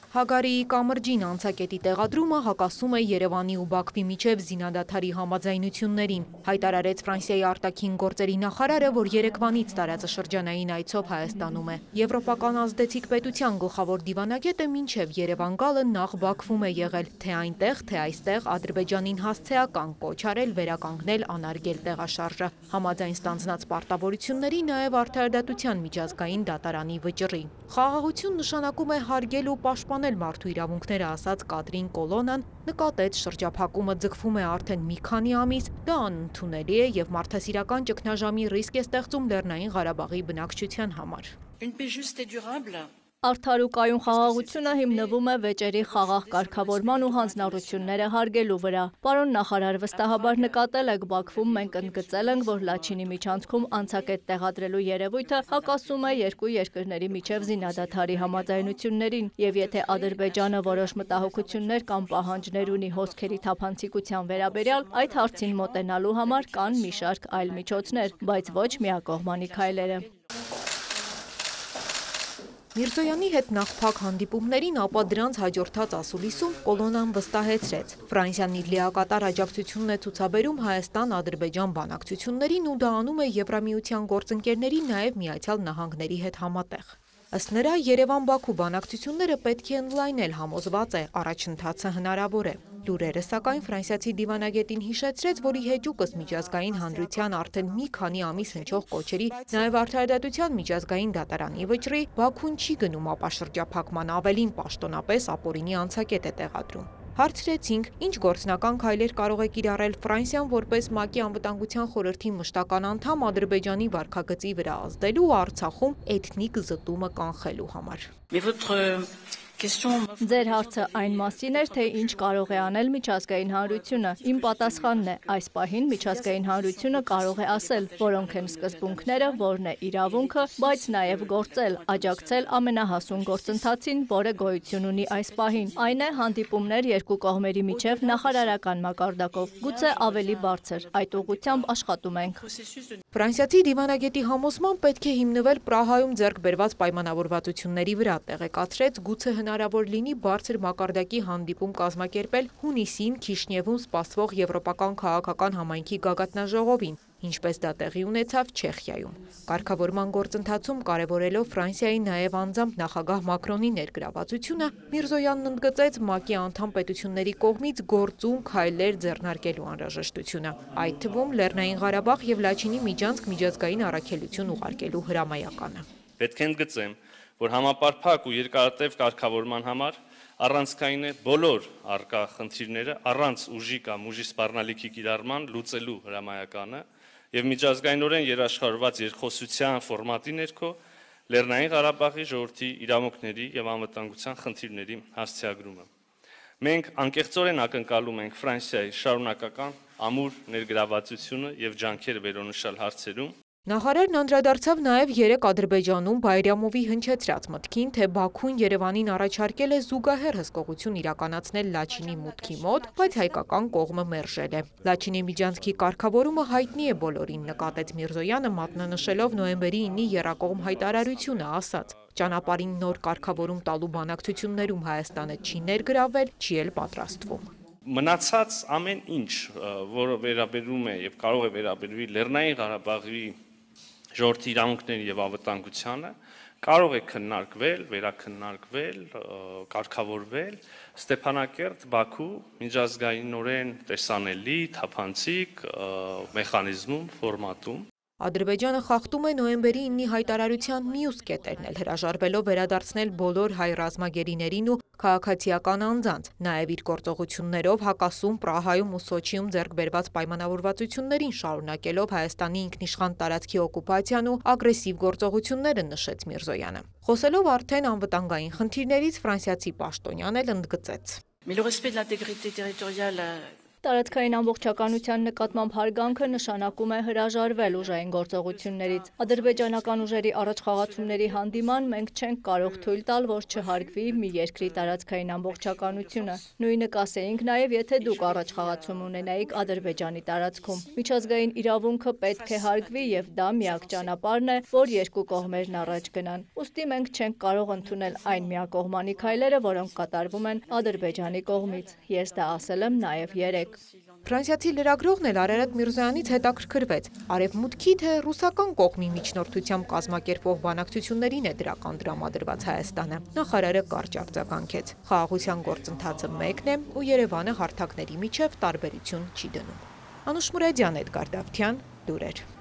Հագարիի կամրջին անցակետի տեղադրումը հակասում է Երևանի ու Բաքվի միջև զինադադարի համաձայնություններին, հայտարարեց Ֆրանսիայի արտաքին գործերի նախարարը, որ Երևանից տարածաշրջանային այցով Հայաստանում է։ Եվրոպական ազդեցիկ պետության գլխավոր դիվանագետը մինչև Երևան գալը նախ Բաքվում է եղել, թե այնտեղ, թե այստեղ Ադրբեջանին հասցեական կոչ արել վերականգնել անարգել տեղաշարժը, համաձայն ստանձնած պարտավորությունների նաև արդարադատության միջազգային դատարանի վճռի։ Խաղաղություն նշանակում է հարգել ու պաշտպանել մարդու իրավունքները, ասաց Կատրին Կոլոնան, նկատեց շրջափակումը ձգվում է արդեն մի քանի ամիս, դա անընդունելի է և մարդասիրական ճգնաժամի ռիսկ է ստեղծում Լեռնային Ղարաբաղի բնակչության համար։ Արդար ու կայուն խաղաղությունը հիմնվում է վեճերի խաղաղ կարգավորման ու հանձնառությունները հարգելու վրա։ Պարոն նախարար, վստահաբար նկատել եք, Բաքվում մենք ընդգծել ենք, որ Լաչինի միջանցքում անցակետ տեղադրելու երևույթը հակասում է երկու երկրների միջև զինադադարի համաձայնություններին, և եթե Ադրբեջանը որոշ մտահոգություններ կամ պահանջներ ունի հոսքերի թափանցիկության վերաբերյալ, այդ հարցին մոտենալու համար կան մի շարք այլ միջոցներ, բայց ոչ միակողմանի քայլերը։ Միրզոյանի հետ նախփակ հանդիպումներին, ապա դրանց հաջորդած ասուլիսում Կոլոնան վստահեցրեց. Ֆրանսիան իր լիակատար աջակցությունն է ցուցաբերում Հայաստան-Ադրբեջան բանակցություններին ու դա անում է Եվրամիության գործընկերների, նաև Միացյալ Նահանգների հետ համատեղ։ Ըստ նրա, Երևան-Բաքու բանակցությունները պետք է ընդլայնել, համոզված է, առաջընթացը հնարավոր է։ Լուրերը սակայն ֆրանսիացի դիվանագետին հիշեցրեց, որ ի հեճուկս միջազգային հանրության արդեն մի քանի ամիս հնչող կոչերի, նաև արդարադատության միջազգային դատարանի վճռի, Բաքուն չի գնում ապաշրջափակման, ավելին պաշտոնապես ապօրինի անցակետ է տեղադրում։ Հարցրեցինք, ինչ գործնական քայլեր կարող է կիրառել Ֆրանսիան որպես ՄԱԿ-ի անվտանգության խորհրդի մշտական անդամ Ադրբեջանի վարքագծի վրա ազդելու ու Արցախում էթնիկ զտումը կանխելու համար։ Ձեր հարցը այն մասին էր, թե ինչ կարող է անել միջազգային հանրությունը։ Իմ պատասխանն է, այս պահին միջազգային հանրությունը կարող է ասել, որոնք են սկզբունքները, որն է իրավունքը, բայց նաև գործել, աջակցել ամենահասուն գործընթացին, որը գոյություն ունի այս պահին։ Այն է հանդիպումներ երկու կողմերի միջև նախարարական մակարդակով, գուցե ավելի բարձր, այդ ուղղությամբ աշխատում ենք։ Ֆրանսիացի դիվանագետի համոզմամբ պետք է հիմնվել Պրահայում ձեռք բերված պայմանավորվածությունների վրա, տեղեկացրեց, գուցե հնարավոր լինի բարձր մակարդակի հանդիպում կազմակերպել հունիսին Քիշնևում սպասվող Եվրոպական քաղաքական համայնքի գագաթնաժողովին, ինչպես դա տեղի ունեցավ Չեխիայում։ Կարգավորման գործընթացում կարևորելով Ֆրանսիայի նաև անձամբ նախագահ Մակրոնի ներգրավվածությունը, Միրզոյանն ընդգծեց ՄԱԿ-ի անդամ պետությունների կողմից գործուն քայլեր ձեռնարկելու անհրաժեշտությունը, այդ թվում Լեռնային Ղարաբաղ և Լաչինի միջանցք միջազգային առաքելություն ուղարկելու հրամայականը։ Պետք է ընդգծեմ, որ համապարփակ ու երկարատև կարգավորման համար առանցքային է բոլոր առկա խնդիրները առանց ուժի կամ ուժի սպառնալիքի կիրառման լուծելու հրամայականը եւ միջազգայինորեն երաշխավորված երկխոսության ֆորմատի ներքո Լեռնային Ղարաբաղի ժողովրդի իրավունքների եւ անվտանգության խնդիրների հասցեագրումը։ Մենք անկեղծորեն ակնկալում ենք Ֆրանսիայի շարունակական ամուր ներգրավվածությունը եւ ջանքերը վերոնշյալ հարցերում։ Նախարարն անդրադարձավ նաև երեկ Ադրբեջանում Բայրամովի հնչեցրած մտքին, թե Բաքուն Երևանին առաջարկել է զուգահեռ հսկողություն իրականացնել Լաչինի մուտքի մոտ, բայց հայկական կողմը մերժել է։ Լաչինի միջանցքի կարգավորումը հայտնի է բոլորին, նկատեց Միրզոյանը, մատնանշելով նոյեմբերի 9-ի եռակողմ հայտարարությունը, ասաց. ճանապարհին նոր կարգավորում տալու բանակցություններում Հայաստանը չի ներգրավել, չի էլ պատրաստվում։ Մնացած ամեն ինչ, որը վերաբերում է եւ կարող է վերաբերվի Լեռնային Ղարաբաղի ժողովրդի իրավունքների եւ անվտանգությանը, կարող է քննարկվել, վերաքննարկվել, կարգավորվել Ստեփանակերտ, Բաքու միջազգայինորեն տեսանելի, թափանցիկ մեխանիզմում, ֆորմատում։ Ադրբեջանը խախտում է նոյեմբերի 9-ի հայտարարության մյուս կետերն էլ, հրաժարվելով վերադարձնել բոլոր հայ ռազմագերիներին ու քաղաքացիական անձանց, նաև իր գործողություններով հակասում Պրահայում ու Սոչիում ձեռք բերված պայմանավորվածություններին, շարունակելով Հայաստանի ինքնիշխան տարածքի օկուպացիան ու ագրեսիվ գործողությունները, նշեց Միրզոյանը։ Խոսելով արդեն անվտանգային խնդիրներից, ֆրանսիացի պաշտոնյան էլ ընդգծեց. Տարածքային ամբողջականության նկատմամբ հարգանքը նշանակում է հրաժարվել ուժային գործողություններից։ Ադրբեջանական ուժերի առաջխաղացումների հանդիման մենք չենք կարող թույլ տալ, որ չհարգվի մի երկրի տարածքային ամբողջականությունը։ Նույնը կասեինք նաև, եթե դուք առաջխաղացում ունենայիք Ադրբեջանի տարածքում։ Միջազգային իրավունքը պետք է հարգվի եւ դա միակ ճանապարհն է, որ երկու կողմերն առաջ գնան։ Ուստի մենք չենք կարող ընդունել այն միակողմանի քայլերը, որոնք կատարվում են Ադրբեջանի կողմից։ Ես դա ասել եմ նաև երեկ։ Ֆրանսիացի լրագրողն էլ Արարատ Միրզոյանից հետաքրքրվեց. արևմուտքի թե ռուսական կողմի միջնորդությամբ կազմակերպվող բանակցություններին է դրական տրամադրված Հայաստանը։ Նախարարը կարճ արձագանքեց. խաղաղության գործընթացը մեկն է ու Երևանը հարթակների միջև տարբերություն չի դնում։ Անուշ Մուրադյան, Էդգար Դավթյան, լուրեր։